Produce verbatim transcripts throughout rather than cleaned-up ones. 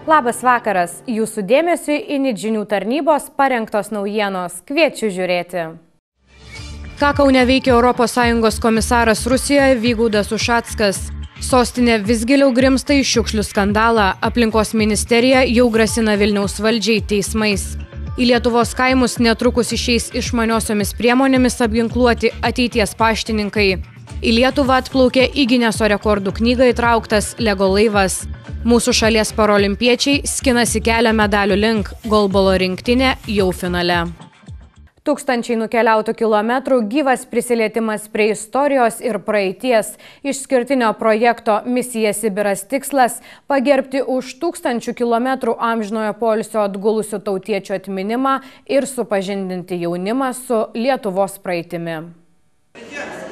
Labas vakaras, jūsų dėmesiui Init žinių tarnybos parengtos naujienos. Kviečiu žiūrėti. Ką Kaune veikia Europos Sąjungos komisaras Rusijoje Vygaudas Ušackas? Sostinė vis giliau grimsta į šiukšlių skandalą. Aplinkos ministerija jau grasina Vilniaus valdžiai teismais. Į Lietuvos kaimus netrukus išeis išmaniosiomis priemonėmis apginkluoti ateities paštininkai. Į Lietuvą atplaukė į Gineso rekordų knygą įtrauktas Lego laivas. Mūsų šalies parolimpiečiai skinasi kelią medalių link, golbolo rinktinė jau finale. Tūkstančiai nukeliautų kilometrų, gyvas prisilietimas prie istorijos ir praeities. Išskirtinio projekto Misija Sibiras tikslas – pagerbti už tūkstančių kilometrų amžinojo poilsio atgulusių tautiečių atminimą ir supažindinti jaunimą su Lietuvos praeitimi.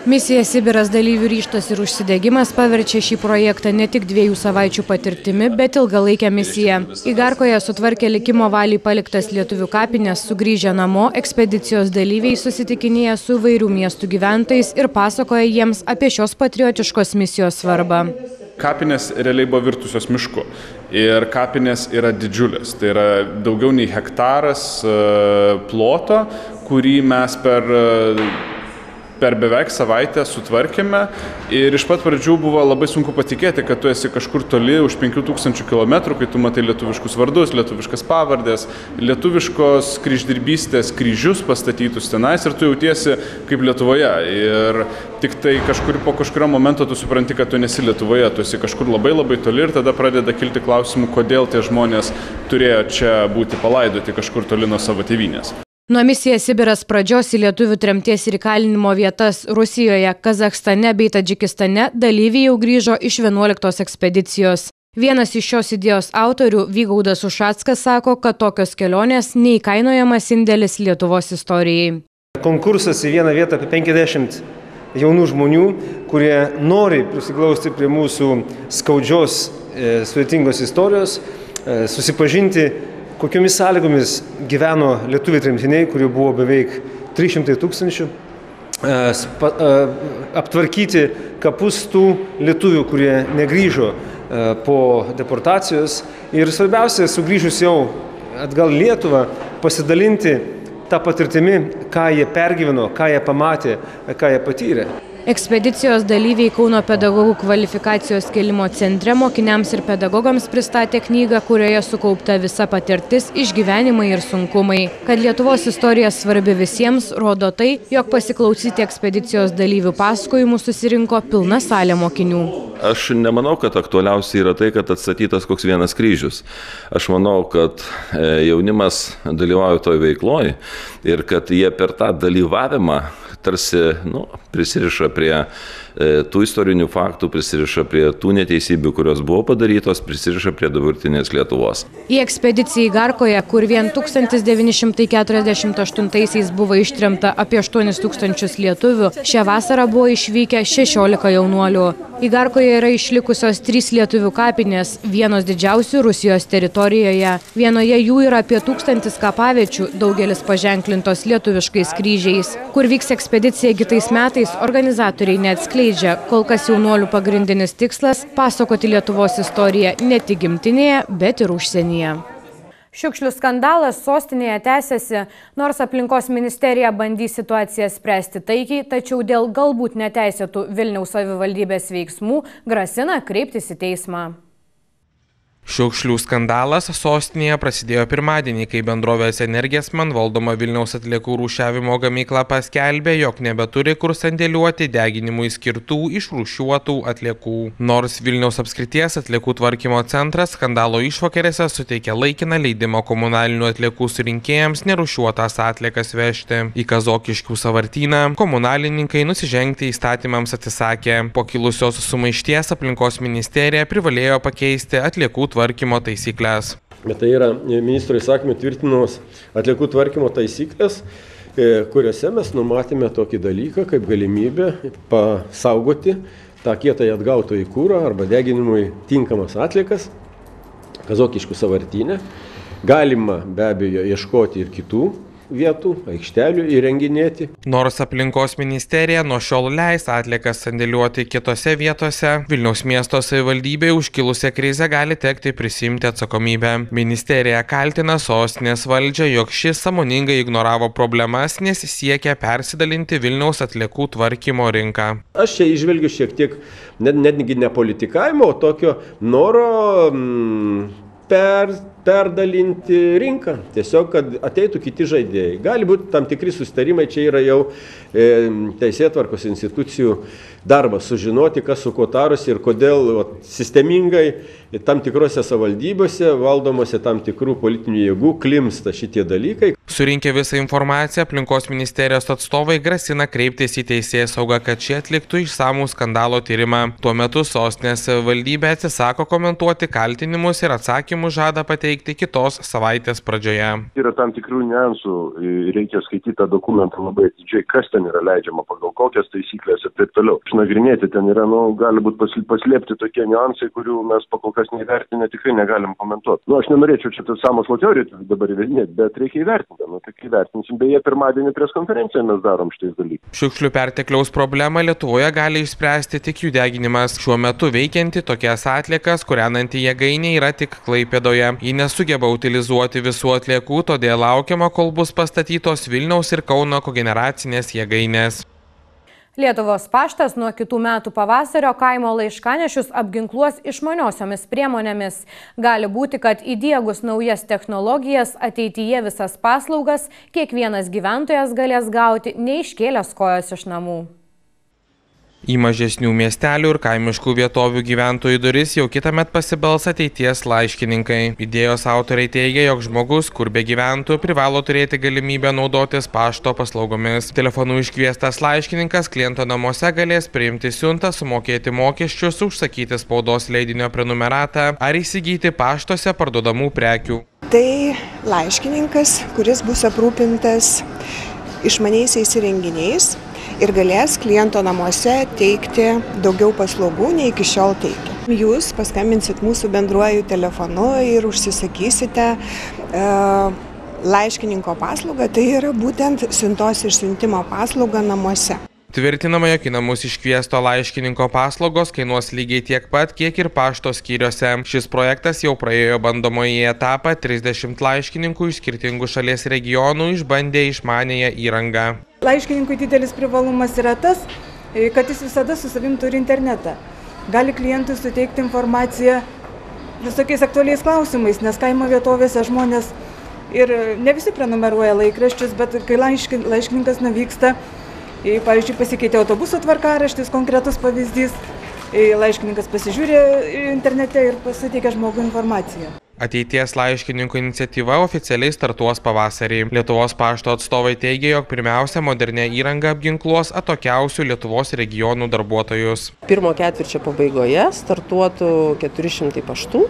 Misija Sibiras dalyvių ryžtas ir užsidegimas paverčia šį projektą ne tik dviejų savaičių patirtimi, bet ilgalaikę misiją. Igarkoje sutvarkė likimo valiai paliktas lietuvių kapines, sugrįžę namo, ekspedicijos dalyviai susitikinėja su įvairių miestų gyventojais ir pasakoja jiems apie šios patriotiškos misijos svarbą. Kapinės realiai buvo virtusios mišku ir kapinės yra didžiulės. Tai yra daugiau nei hektaras ploto, kurį mes per... per beveik savaitę sutvarkėme ir iš pat pradžių buvo labai sunku patikėti, kad tu esi kažkur toli už penkių tūkstančių kilometrų, kai tu matai lietuviškus vardus, lietuviškas pavardės, lietuviškos kryždirbystės kryžius pastatytus tenais ir tu jautiesi kaip Lietuvoje. Ir tik tai kažkur po kažkurio momento tu supranti, kad tu nesi Lietuvoje, tu esi kažkur labai labai toli ir tada pradeda kilti klausimų, kodėl tie žmonės turėjo čia būti palaidoti kažkur toli nuo savo tėvynės. Nuo Misija Sibiras pradžios į lietuvių tremties ir įkalinimo vietas Rusijoje, Kazachstane bei Tadžikistane dalyviai jau grįžo iš vienuoliktos ekspedicijos. Vienas iš šios idėjos autorių, Vygaudas Ušackas, sako, kad tokios kelionės neįkainojamas indėlis Lietuvos istorijai. Konkursas į vieną vietą apie penkiasdešimt jaunų žmonių, kurie nori prisiglausti prie mūsų skaudžios, e, sudėtingos istorijos, e, susipažinti, kokiomis sąlygomis gyveno lietuviai tremtiniai, kurių buvo beveik trys šimtai tūkstančių, aptvarkyti kapus tų lietuvių, kurie negrįžo po deportacijos ir svarbiausia, sugrįžus jau atgal Lietuvą, pasidalinti tą patirtimi, ką jie pergyveno, ką jie pamatė, ką jie patyrė. Ekspedicijos dalyviai Kauno pedagogų kvalifikacijos kėlimo centre mokiniams ir pedagogams pristatė knygą, kurioje sukaupta visa patirtis, išgyvenimai ir sunkumai. Kad Lietuvos istorija svarbi visiems, rodo tai, jog pasiklausyti ekspedicijos dalyvių pasakojimų susirinko pilna salė mokinių. Aš nemanau, kad aktualiausia yra tai, kad atstatytas koks vienas kryžius. Aš manau, kad jaunimas dalyvauja toj veikloj ir kad jie per tą dalyvavimą tarsi nu, prisiriša prie e, tų istorinių faktų, prisiriša prie tų neteisybių, kurios buvo padarytos, prisiriša prie dabartinės Lietuvos. Į ekspediciją Igarkoje, kur vien tūkstantis devyni šimtai keturiasdešimt aštuntaisiais buvo ištremta apie aštuonis tūkstančius lietuvių, šią vasarą buvo išvykę šešiolika jaunuolių. Igarkoje yra išlikusios trys lietuvių kapinės, vienos didžiausių Rusijos teritorijoje. Vienoje jų yra apie tūkstantis kapaviečių, daugelis paženklintos lietuviškais kryžiais. Kur vyks ekspedicija kitais metais, organizatoriai neatskleidžia. Kol kas jaunuolių pagrindinis tikslas – pasakoti Lietuvos istoriją ne tik gimtinėje, bet ir užsienyje. Šiukšlių skandalas sostinėje tęsiasi, nors aplinkos ministerija bandys situaciją spręsti taikiai, tačiau dėl galbūt neteisėtų Vilniaus savivaldybės veiksmų grasina kreiptis į teismą. Šiukšlių skandalas sostinėje prasidėjo pirmadienį, kai bendrovės Energesman valdoma Vilniaus atliekų rūšiavimo gamykla paskelbė, jog nebeturi kur sandėliuoti deginimui skirtų išrūšiuotų atliekų. Nors Vilniaus apskrities atliekų tvarkymo centras skandalo išvakarėse suteikė laikiną leidimą komunalinių atliekų surinkėjams nerūšiuotas atliekas vežti. Į Kazokiškių sąvartyną komunalininkai nusižengti įstatymams atsisakė. Po kilusios sumaišties aplinkos ministerija privalėjo pakeisti atliekų tvarkymo taisyklės. Bet tai yra ministro įsakymų tvirtinamos atliekų tvarkymo taisyklės, kuriuose mes numatėme tokį dalyką, kaip galimybę pasaugoti tą kietąjį atgautąjį kurą arba deginimui tinkamas atliekas Kazokiškių sąvartyne. Galima be abejo ieškoti ir kitų vietų, aikštelių įrenginėti. Nors aplinkos ministerija nuo šiol leis atliekas sandėliuoti kitose vietose, Vilniaus miesto savivaldybei užkilusią krizę gali tekti prisimti atsakomybę. Ministerija kaltina sostinės valdžią, jog šis sąmoningai ignoravo problemas, nes siekia persidalinti Vilniaus atliekų tvarkymo rinką. Aš čia įžvelgiu šiek tiek net, netgi ne politikavimo, o tokio noro mm, per, perdalinti rinką. Tiesiog, kad ateitų kiti žaidėjai. Gali būti tam tikri susitarimai, čia yra jau e, teisėtvarkos institucijų darbas sužinoti, kas su kuo tarosi ir kodėl o, sistemingai tam tikrose savivaldybėse, valdomose tam tikrų politinių jėgų klimsta šitie dalykai. Surinkę visą informaciją, aplinkos ministerijos atstovai grasina kreiptis į teisėsaugą, kad šie atliktų išsamų skandalo tyrimą. Tuo metu sostinės savivaldybė atsisako komentuoti kaltinimus ir atsakymus žada pateikti kitos savaitės pradžioje. Yra tam tikrų niuansų, reikia skaityti tą dokumentą labai atidžiai, kas ten yra leidžiama, pagal kokias taisyklės ir taip toliau. Išnagrinėti ten yra, nu, gali būti paslėpti tokie niuansai, kurių mes pakol kas neįvertinę tikrai negalim komentuoti. Nu, aš nenorėčiau čia tas sąmokslo teorijų dabar įvedinėti, bet reikia įvertinti. Nu, tik įvertinsim. Beje, pirmadienį pries konferenciją mes darom šitais dalykais. Šiukšlių pertekliaus problemą Lietuvoje gali išspręsti tik jų deginimas. Šiuo metu veikianti tokias atliekas kūrenanti jėgainė yra tik Klaipėdoje. Ji nesugeba utilizuoti visų atliekų, todėl laukiama, kol bus pastatytos Vilniaus ir Kauno kogeneracinės jėgainės. Lietuvos paštas nuo kitų metų pavasario kaimo laiškanešius apginkluos išmaniosiomis priemonėmis. Gali būti, kad įdiegus naujas technologijas ateityje visas paslaugas kiekvienas gyventojas galės gauti neiškėlęs kojos iš namų. Į mažesnių miestelių ir kaimiškų vietovių gyventojų duris jau kitąmet pasibels ateities laiškininkai. Idėjos autoriai teigia, jog žmogus, kur be gyventų, privalo turėti galimybę naudotis pašto paslaugomis. Telefonu iškviestas laiškininkas kliento namuose galės priimti siuntą, sumokėti mokesčius, užsakyti spaudos leidinio prenumeratą ar įsigyti paštuose parduodamų prekių. Tai laiškininkas, kuris bus aprūpintas išmaniaisiais įrenginiais ir galės kliento namuose teikti daugiau paslaugų, nei iki šiol teikia. Jūs paskambinsit mūsų bendruoju telefonu ir užsisakysite e, laiškininko paslaugą, tai yra būtent siuntos išsiuntimo paslauga namuose. Tvirtinama, jog į namus iškviesto laiškininko paslaugos kainuos lygiai tiek pat, kiek ir pašto skyriuose. Šis projektas jau praėjo bandomąjį etapą, trisdešimt laiškininkų iš skirtingų šalies regionų išbandė išmanėją įrangą. Laiškininkui didelis privalumas yra tas, kad jis visada su savim turi internetą. Gali klientui suteikti informaciją visokiais aktualiais klausimais, nes kaimo vietovėse žmonės ir ne visi prenumeruoja laikraščius, bet kai laiškininkas nuvyksta, pavyzdžiui, pasikeitė autobuso tvarkaraštis, konkretus pavyzdys, laiškininkas pasižiūrė internete ir pasiteikia žmogų informaciją. Ateities laiškininkų iniciatyva oficialiai startuos pavasarį. Lietuvos pašto atstovai teigia, jog pirmiausia modernė įranga apginkluos atokiausių Lietuvos regionų darbuotojus. Pirmo ketvirčio pabaigoje startuotų keturi šimtai paštų,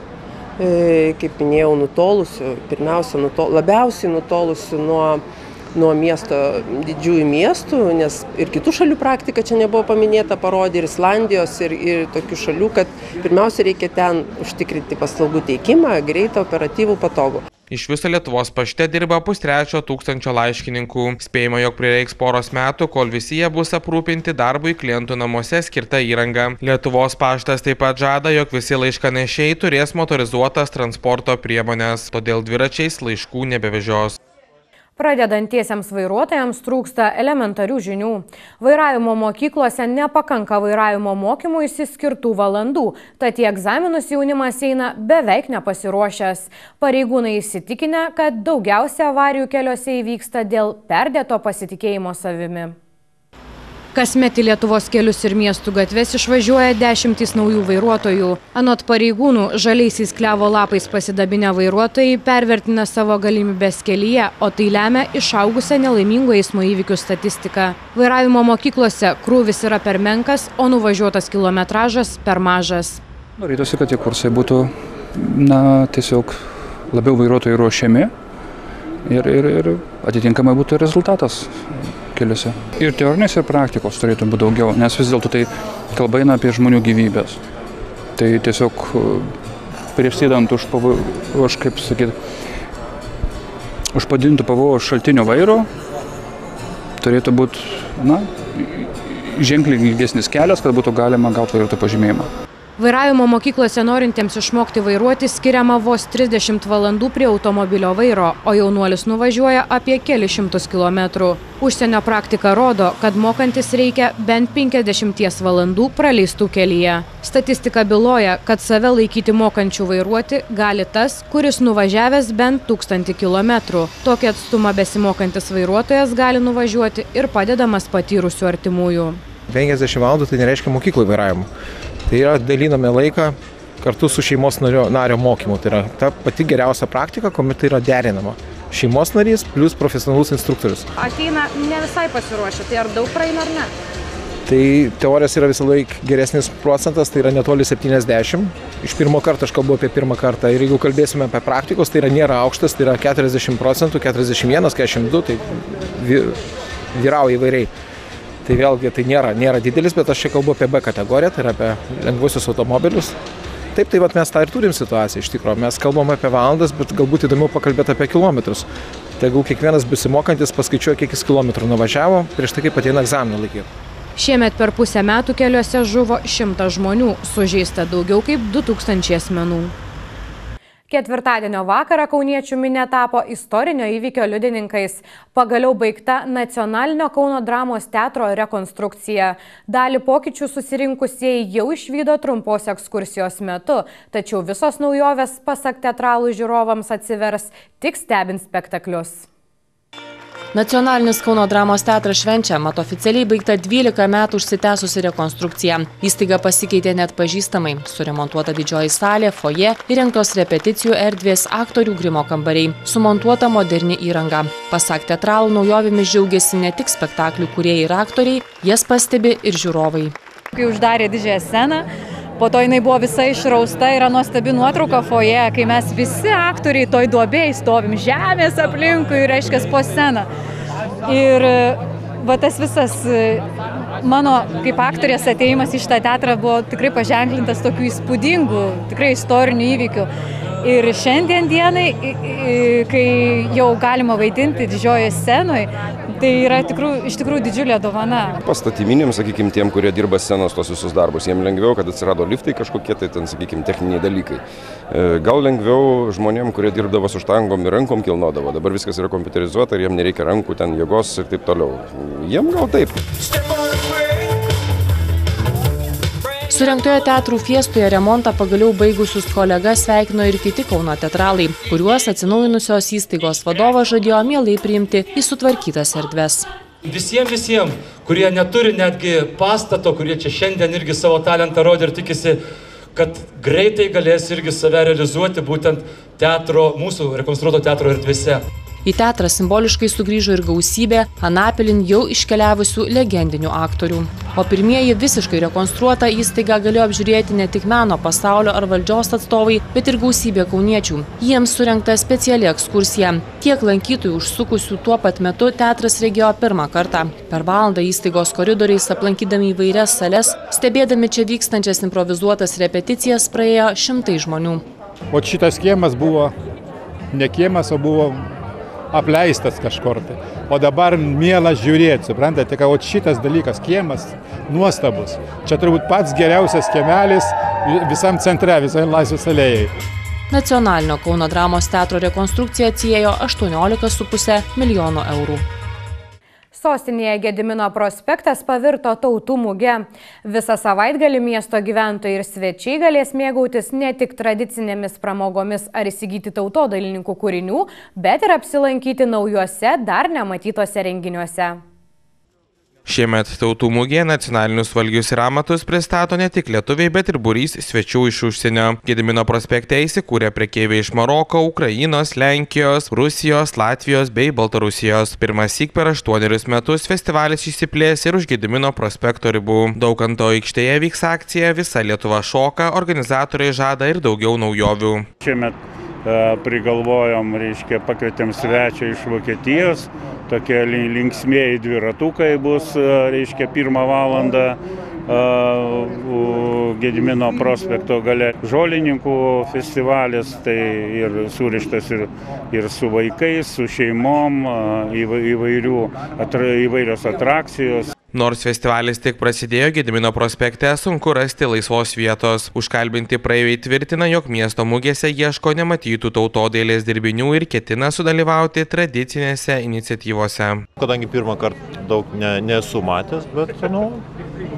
kaip minėjau, nutolusių, pirmiausia, nutol, labiausiai nutolusių nuo nuo miesto, didžiųjų miestų, nes ir kitų šalių praktika čia nebuvo paminėta, parodė ir Islandijos, ir, ir tokių šalių, kad pirmiausia reikia ten užtikrinti paslaugų teikimą, greitą, operatyvų, patogų. Iš viso Lietuvos pašte dirba pustrečio tūkstančio laiškininkų. Spėjama, jog prireiks poros metų, kol visi jie bus aprūpinti darbui klientų namuose skirta įranga. Lietuvos paštas taip pat žada, jog visi laiškanešiai turės motorizuotas transporto priemonės, todėl dviračiais laiškų nebevežios. Pradedantiesiems vairuotojams trūksta elementarių žinių. Vairavimo mokyklose nepakanka vairavimo mokymuisi skirtų valandų, tad į egzaminus jaunimas eina beveik nepasiruošęs. Pareigūnai įsitikinę, kad daugiausia avarijų keliuose įvyksta dėl perdėto pasitikėjimo savimi. Kasmet į Lietuvos kelius ir miestų gatves išvažiuoja dešimtys naujų vairuotojų. Anot pareigūnų, žaliaisiais klevo lapais pasidabinę vairuotojai pervertina savo galimybės kelyje, o tai lemia išaugusią nelaimingų eismo įvykių statistiką. Vairavimo mokyklose krūvis yra per menkas, o nuvažiuotas kilometražas per mažas. Norėtųsi, kad tie kursai būtų na, tiesiog labiau vairuotojai ruošiami ir, ir, ir atitinkamai būtų rezultatas keliuose. Ir teorinės ir praktikos turėtų būti daugiau, nes vis dėlto tai kalba eina apie žmonių gyvybės. Tai tiesiog prieš sėdant už, už kaip sakyti, už padidintų pavojaus šaltinio vairo turėtų būti, na, ženkliai ilgesnis kelias, kad būtų galima gauti vairuotojo pažymėjimą. Vairavimo mokyklose norintiems išmokti vairuoti skiriama vos trisdešimt valandų prie automobilio vairo, o jaunuolis nuvažiuoja apie kelis šimtus kilometrų. Užsienio praktika rodo, kad mokantis reikia bent penkiasdešimties valandų praleistų kelyje. Statistika byloja, kad save laikyti mokančių vairuoti gali tas, kuris nuvažiavęs bent tūkstantį kilometrų. Tokį atstumą besimokantis vairuotojas gali nuvažiuoti ir padedamas patyrusių artimųjų. penkiasdešimt valandų tai nereiškia mokyklai vairavimo. Tai yra daliname laiką kartu su šeimos nario, nario mokymu. Tai yra ta pati geriausia praktika, kuomet tai yra derinama. Šeimos narys plus profesionalus instruktorius. Ateina ne visai pasiruošę, tai ar daug praeina ar ne? Tai teorijos yra visą laiką geresnis procentas, tai yra netoli septyniasdešimt. Iš pirmo karto aš kalbu apie pirmą kartą. Ir jeigu kalbėsime apie praktikos, tai yra nėra aukštas, tai yra keturiasdešimt procentų, keturiasdešimt vienas, keturiasdešimt du, tai vyrauja įvairiai. Tai vėlgi tai nėra, nėra didelis, bet aš čia kalbu apie B kategoriją, tai yra apie lengvuosius automobilius. Taip, tai vat mes tą ir turim situaciją iš tikrųjų. Mes kalbam apie valandas, bet galbūt įdomiau pakalbėti apie kilometrus. Tegul kiekvienas besimokantis paskaičiuoja, kiek jis kilometrų nuvažiavo prieš tai, kaip ateina egzaminą laikyti. Šiemet per pusę metų keliuose žuvo šimtas žmonių, sužeista daugiau kaip du tūkstančiai asmenų. Ketvirtadienio vakarą kauniečių minia tapo istorinio įvykio liudininkais. Pagaliau baigta Nacionalinio Kauno dramos teatro rekonstrukcija. Dalį pokyčių susirinkusieji jau išvydo trumpos ekskursijos metu, tačiau visos naujovės, pasak teatralų žiūrovams, atsivers tik stebint spektaklius. Nacionalinis Kauno dramos teatras švenčia, mat oficialiai baigta dvylika metų užsitęsusi rekonstrukcija. Įstaiga pasikeitė net pažįstamai. Suremontuota didžioji salė, foje, įrengtos repeticijų erdvės, aktorių grimo kambariai, sumontuota moderni įranga. Pasak teatralų, naujovėmis džiaugiasi ne tik spektaklių kūrėjai ir aktoriai, jas pastebi ir žiūrovai. Kai uždarė didžiąją sceną, po to jinai buvo visa išrausta, yra nuostabi nuotrauka foje, kai mes visi aktoriai toj duobėj stovim žemės aplinkui, reiškia, po sceną. Ir va tas visas mano kaip aktorės atėjimas į šitą teatrą buvo tikrai paženklintas tokių įspūdingų, tikrai istorinių įvykių. Ir šiandien dienai, kai jau galima vaidinti didžiojoje scenoje, tai yra tikrų, iš tikrųjų didžiulė dovana. Pastatyminiams, sakykime, tiem, kurie dirba scenos tos visus darbus, jiems lengviau, kad atsirado liftai kažkokie, tai ten, sakykime, techniniai dalykai. Gal lengviau žmonėm, kurie dirbdavo su štangom ir rankom kilnodavo. Dabar viskas yra kompiuterizuota ir jiems nereikia rankų, ten jėgos ir taip toliau. Jiem gal taip. Surengtoje teatrų fiestoje remontą pagaliau baigusius kolegas sveikino ir kiti Kauno teatralai, kuriuos atsinaujinusios įstaigos vadovas žadėjo mielai priimti į sutvarkytas erdves. Visiems, visiems, kurie neturi netgi pastato, kurie čia šiandien irgi savo talentą rodė ir tikisi, kad greitai galės irgi save realizuoti būtent teatro, mūsų rekonstruoto teatro erdvėse. Į teatrą simboliškai sugrįžo ir gausybė Anapilin jau iškeliavusių legendinių aktorių. O pirmieji visiškai rekonstruotą įstaigą galėjo apžiūrėti ne tik meno pasaulio ar valdžios atstovai, bet ir gausybė kauniečių. Jiems surengta speciali ekskursija. Tiek lankytojų užsukusių tuo pat metu teatras regėjo pirmą kartą. Per valandą įstaigos koridoriais aplankydami įvairias sales, stebėdami čia vykstančias improvizuotas repeticijas, praėjo šimtai žmonių. O šitas kiemas buvo ne kiemas, o buvo apleistas kažkur tai. O dabar mielas žiūrėti, suprantate, kad šitas dalykas, kiemas, nuostabus. Čia turbūt pats geriausias kiemelis visam centre, visai Laisvės alėjai. Nacionalinio Kauno dramos teatro rekonstrukcija atsiėjo aštuoniolika su puse milijono eurų. Sostinėje Gedimino prospektas pavirto tautų muge. Visą savaitgalį miesto gyventojai ir svečiai galės mėgautis ne tik tradicinėmis pramogomis ar įsigyti tautodailininkų kūrinių, bet ir apsilankyti naujuose, dar nematytose renginiuose. Šiemet tautų mugėje nacionalinius valgius ir amatus pristato ne tik lietuviai, bet ir būrys svečių iš užsienio. Gedimino prospekte įsikūrė prekeiviai iš Maroko, Ukrainos, Lenkijos, Rusijos, Latvijos bei Baltarusijos. Pirmąsyk per aštuonerius metus festivalis išsiplės ir už Gedimino prospekto ribų. Daukanto aikštėje vyks akcija Visa Lietuva šoka, organizatoriai žada ir daugiau naujovių. Šiemet prigalvojom, reiškia, pakvietėm svečią iš Vokietijos. Tokie linksmieji dviratukai bus, reiškia, pirmą valandą. Gedimino prospekto gale žolininkų festivalis, tai ir surištas ir, ir su vaikais, su šeimom, įvairių, atra, įvairios atrakcijos. Nors festivalis tik prasidėjo, Gedimino prospekte sunku rasti laisvos vietos. Užkalbinti praeiviai tvirtina, jog miesto mugėse ieško nematytų tautodailės dirbinių ir ketina sudalyvauti tradicinėse iniciatyvose. Kadangi pirmą kartą daug ne, nesu matęs, bet nu,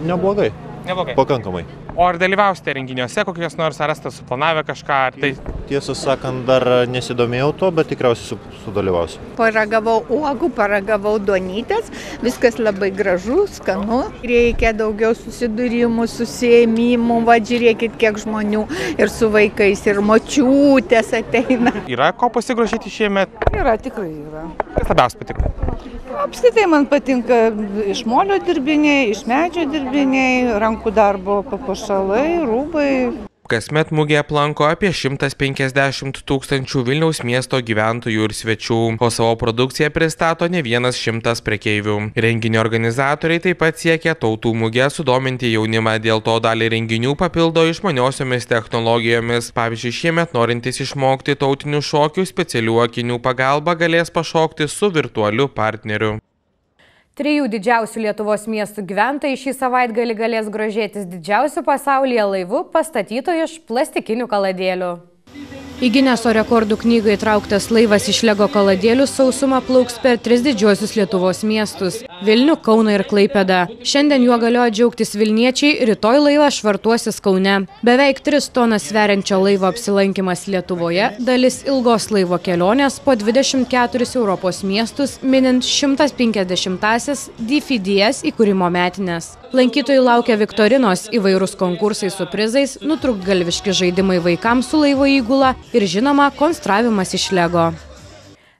neblogai. Neblogai. Pakankamai. O ar dalyvausite renginiuose, kokios nors ar esate suplanavę kažką? Ar tai... Tiesą sakant, dar nesidomėjau to, bet tikriausiai sudalyvausiu. Paragavau uogų, paragavau duonytės, viskas labai gražu, skanu. Reikia daugiau susidūrimų, susėmimų, va žiūrėkit, kiek žmonių ir su vaikais, ir močiutės ateina. Yra ko pasigrožėti šiemet? Yra, tikrai yra. Kas labiausiai patiko? Apskritai man patinka iš molio dirbiniai, iš medžio dirbiniai, rankų darbo papuošalai, rūbai. Kasmet mugė aplanko apie šimtas penkiasdešimt tūkstančių Vilniaus miesto gyventojų ir svečių, o savo produkciją pristato ne vienas šimtas prekeivių. Renginio organizatoriai taip pat siekia tautų mugę sudominti jaunimą, dėl to dalį renginių papildo išmaniosiomis technologijomis. Pavyzdžiui, šiemet norintys išmokti tautinių šokių specialių akinių pagalba galės pašokti su virtualiu partneriu. Trijų didžiausių Lietuvos miestų gyventojai šį savaitgalį galės grožėtis didžiausių pasaulyje laivų pastatytų iš plastikinių kaladėlių. Į Gineso rekordų knygą įtrauktas laivas iš Lego kaladėlių sausumą plauks per tris didžiuosius Lietuvos miestus – Vilnių, Kauną ir Klaipėdą. Šiandien juo galėjo džiaugtis vilniečiai, rytoj laivas švartuosis Kaune. Beveik tris tonas sveriančio laivo apsilankymas Lietuvoje, dalis ilgos laivo kelionės po dvidešimt keturis Europos miestus, minint šimtas penkiasdešimtąsias D F D S įkūrimo metines. Lankytojų laukia viktorinos, įvairūs konkursai su prizais, nutrūktgalviški žaidimai vaikams su laivo įgula ir žinoma, konstravimas iš Lego.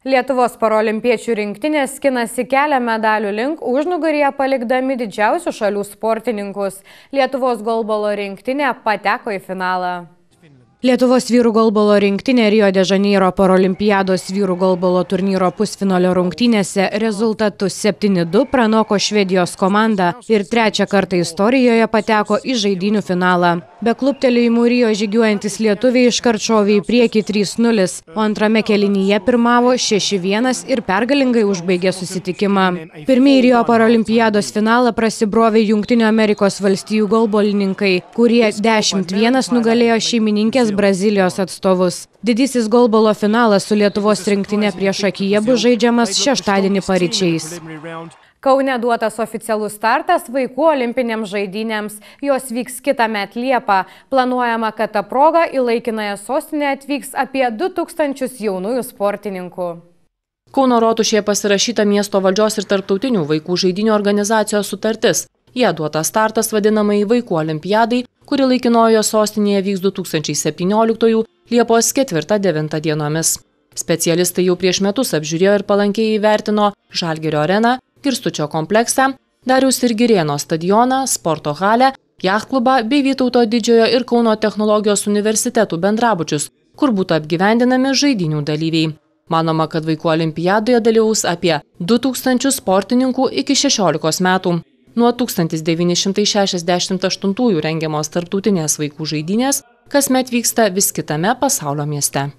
Lietuvos parolimpiečių rinktinės skinasi kelią medalių link užnugaryje palikdami didžiausių šalių sportininkus. Lietuvos golbolo rinktinė pateko į finalą. Lietuvos vyrų golbolo rinktinė Rio de Žaneiro parolimpiados vyrų golbolo turnyro pusfinalio rungtynėse rezultatu septyni du pranoko Švedijos komandą ir trečią kartą istorijoje pateko į žaidynių finalą. Be kluptelėjimų Rio žygiuojantis lietuviai iškart šovė į priekį trys nulis, o antrame kėlinyje pirmavo šeši vienas ir pergalingai užbaigė susitikimą. Pirmieji Rio parolimpiados finalą prasibrovė Jungtinių Amerikos valstijų golbolininkai, kurie dešimt vienas nugalėjo šeimininkės Brazilijos atstovus. Didysis golbolo finalas su Lietuvos rinktinė priešakyje bus žaidžiamas šeštadienį paryčiais. Kaune duotas oficialus startas vaikų olimpinėms žaidynėms. Jos vyks kitąmet Liepą. Planuojama, kad ta proga į laikinąją sostinę atvyks apie du tūkstančius jaunųjų sportininkų. Kauno rotušėje pasirašyta miesto valdžios ir tarptautinių vaikų žaidynių organizacijos sutartis. Jie duotas startas vadinamai vaikų olimpiadai, kuri laikinojo sostinėje vyks du tūkstančiai septynioliktųjų Liepos ketvirtą devintą dienomis. Specialistai jau prieš metus apžiūrėjo ir palankiai įvertino Žalgirio areną, Girstučio kompleksą, Dariaus ir Girėno stadioną, sporto halę, jachtklubą bei Vytauto Didžiojo ir Kauno technologijos universitetų bendrabučius, kur būtų apgyvendinami žaidynių dalyviai. Manoma, kad vaikų olimpiadoje dalyvaus apie du tūkstančius sportininkų iki šešiolikos metų. Nuo tūkstantis devyni šimtai šešiasdešimt aštuntųjų rengiamos tarptautinės vaikų žaidynės kasmet vyksta vis kitame pasaulio mieste.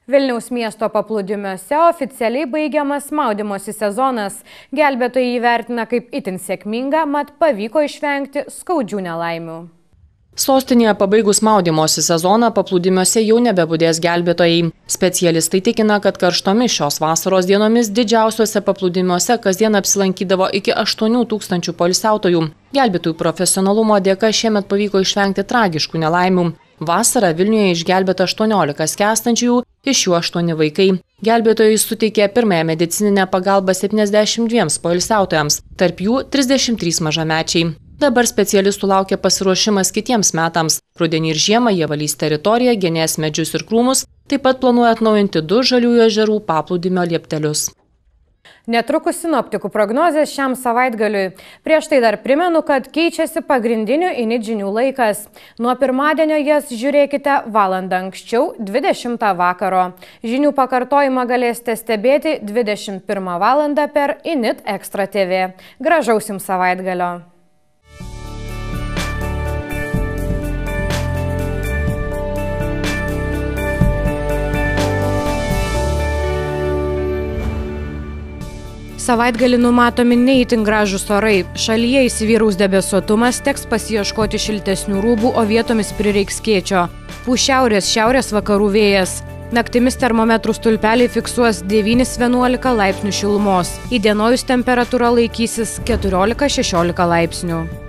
Vilniaus miesto paplūdimiuose oficialiai baigiamas maudymosi sezonas. Gelbėtojai įvertina kaip itin sėkmingą, mat pavyko išvengti skaudžių nelaimių. Sostinėje pabaigus maudymosi sezoną paplūdimiuose jau nebebudės gelbėtojai. Specialistai tikina, kad karštomis šios vasaros dienomis didžiausiuose paplūdimiuose kasdien apsilankydavo iki aštuonių tūkstančių poilsiautojų. Gelbėtojų profesionalumo dėka šiemet pavyko išvengti tragiškų nelaimių. Vasarą Vilniuje išgelbėta aštuoniolika skęstančiųjų, iš jų aštuoni vaikai. Gelbėtojai suteikė pirmąją medicininę pagalbą septyniasdešimt dviems poilsiautojams, tarp jų trisdešimt trys mažamečiai. Dabar specialistų laukia pasiruošimas kitiems metams. Rudenį ir žiemą jie valys teritoriją, genės medžius ir krūmus, taip pat planuoja atnaujinti du žaliųjų ežerų paplūdimio lieptelius. Netrukus sinoptikų prognozės šiam savaitgaliui. Prieš tai dar primenu, kad keičiasi pagrindinių init žinių laikas. Nuo pirmadienio jas žiūrėkite valandą anksčiau, dvidešimtą vakaro. Žinių pakartojimą galėsite stebėti dvidešimt pirmą valandą per Init Extra T V. Gražaus jums savaitgalio. Savaitgalį numatomi ne itin gražūs orai. Šalyje įsivyraus debesuotumas, teks pasiieškoti šiltesnių rūbų, o vietomis prireiks skėčio. Pūs šiaurės, šiaurės vakarų vėjas. Naktimis termometrų stulpeliai fiksuos devyni vienuolika laipsnių šilumos. Įdienojus temperatūra laikysis keturiolika šešiolika laipsnių.